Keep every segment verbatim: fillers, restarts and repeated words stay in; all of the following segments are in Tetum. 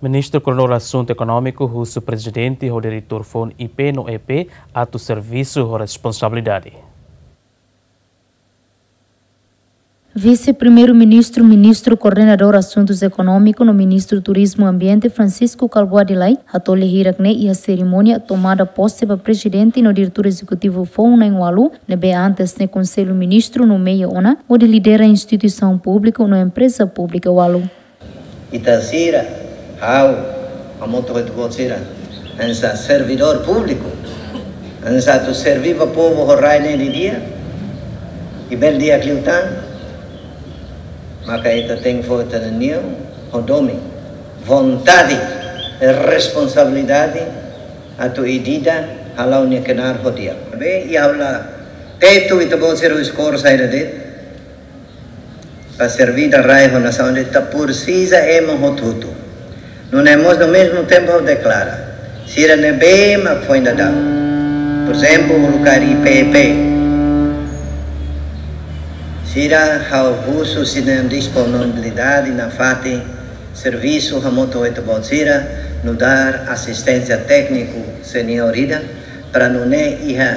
Ministru Koordenadór Asuntu Ekonómiku husu prezidente ho diretór foun I P no E P atu servisu ho responsabilidade. Vise-Primeiru-Ministru, Ministru Koordenadór Asuntus Ekonómiku no Ministru Turizmu Ambiente, Francisco Kalbuadi Lay, hato'o lia hirak ne'e iha serimónia tomada pose ba prezidente no diretór ezekutivu foun na'in-ualu, ne'ebé antes ne'e Konsellu Ministru nomeia ona, hodi lidera instituisaun públiku no empreza públika ualu. Ita sira, ha'u, hamutuk ho ita-boot sira, hanesan servidór públiku, hanesan atu serve ba povu ho rai ne'e didi'ak, i bele di'ak liután, maka ita tenke fó ita-nia neon ho domin, vontade, responsabilidade, atu ida-idak hala'o nia knaar ho di'ak. Be, i ha'u la tetu ita-boot sira husi kór saida de'it, para serve rai ho nasaun, ita presiza ema hotu-hotu. Nune'e mós no mezmu tempu ha'u deklara, sira ne'ebé mak foin daudaun, por ezemplu, uluk kaer I P E P, sira ha'u husu sira-nia disponibilidade nafatin servisu hamutuk ho ita-boot sira, nu'udar asisténsia tékniku seniór ida, para nune'e iha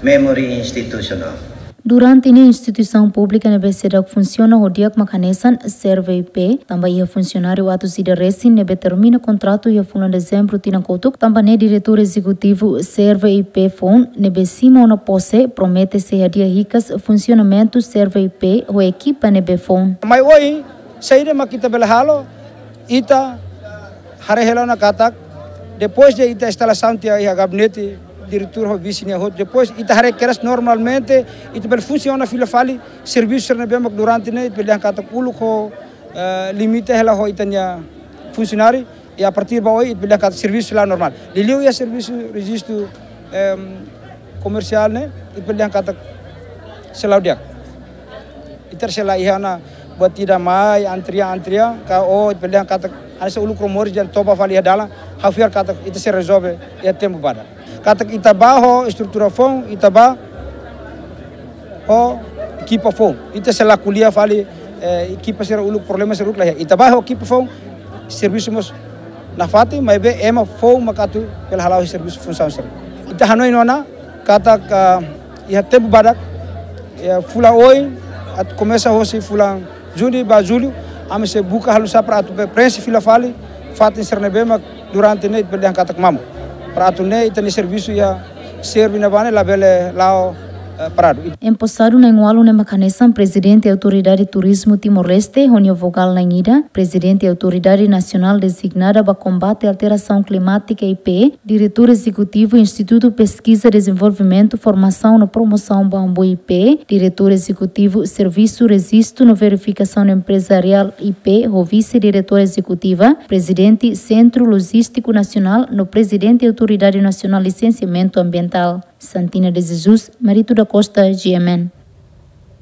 memory institusionál. Durante ne'e instituisaun públika ne'ebé seidauk funsiona ho di'ak mak hanesan Serve I P, tanba iha funsionáriu atus ida resin ne'ebé termina kontratu iha fulan Dezembru tinan kotuk, tanba ne'e diretór ezekutivu Serve I P foun ne'ebé simu ona pose promete sei hadi'a hikas funsionamentu Serve I P ho ekipa ne'ebé foun. Mai ohin, saida mak ita bele halo, ita haree hela ona katak, depois de ita instalasaun tiha iha gabinete, diretór ho vise nia hotu, depois ita haree kedas normalmente, ita bele funsiona fila fali, servisu sira ne'ebé mak durante ne'e, ita bele dehan katak uluk ho, eh, limite hela ho ita-nia funsionáriu, i a partir ba ohin, ita bele dehan katak servisu sei la'o normál. Liuliu iha servisu rejistu, em, komersiál ne'e, ita bele dehan katak sei la'o di'ak. Ita sei la iha ona buat ida mai, antrian, antrian, ka o, ita bele dehan katak, hanesan uluk rumores jan toba fali iha dalan, ha'u fiar katak, ita sei rezolve iha tempu badak. Katak ita bá ho estrutura foun, ita bá ho ekipa foun. Ita sei la ko'alia fali, eh, ekipa sira uluk problema sira uluk la iha. Ita bá ho ekipa foun, servisu mós nafatin, maibé ema foun mak atu bele hala'o servisu funsaun sira. Ita hanoin ona, katak, ah, iha tempu badak, iha fulan oin, atu komesa hosi fulan Juni ba Jullu, ami sei buka halo sá para atu be prenxe fila fali, fatin sira ne'ebé mak durante ne'e ita bele dehan katak mamuk. Para atu nune'e ita-nia servisu iha Serve ne'ebá ne'e labele la'o, eh, paradu. Emposadu na'in-ualu ne'e mak hanesan Prezidente Autoridade Turizmu Timor-Leste, ho nia vogál na'in-ida, Prezidente Autoridade Nasionál Dezignada ba Kombate à Alterasaun Klimátika, I P, Diretór Ezekutivu Institutu Peskiza, Dezenvolvimentu, Formasaun no Promosaun Bambu, I P, Diretór Ezekutivu Servisu Rejistu no Verifikasaun Emprezariál, I P, ho Vise-Diretór Ezekutiva, Prezidente Sentru Lojístiku Nasionál no Prezidente Autoridade Nasionál Lisensiamentu Ambientál. Santina de Jesus, Marito da Costa, G M N.